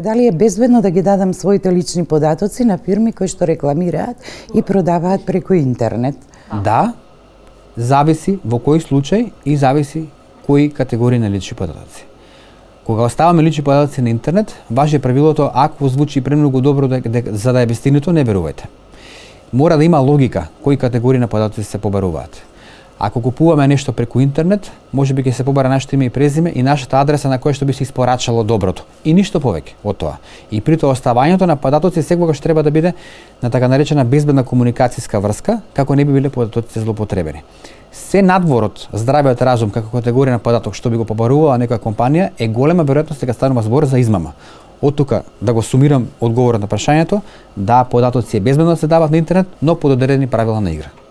Дали е безбедно да ги дадам своите лични податоци на фирми кои што рекламираат и продаваат преку интернет? Да, зависи во кој случај и зависи кои категории на лични податоци. Кога оставаме лични податоци на интернет, важи правилото ако звучи премногу добро за да е вистинито, не верувајте. Мора да има логика кои категории на податоци се побаруваат. Ако купуваме нешто преку интернет, можеби ќе се побара нашето име и презиме и нашата адреса на која што би се испорачало доброто. И ништо повеќе од тоа. И при тоа оставањето на податоци секогаш треба да биде на така наречена безбедна комуникацијска врска, како не би биле податоците злоупотребени. Се надвор од здравиот разум како категорија на податок што би го побарувала некоја компанија е голема веројатност дека станува збор за измама. Од тука да го сумирам одговорот на прашањето, да, податоци е безбедно да се дават на интернет, но под одредени правила на игра.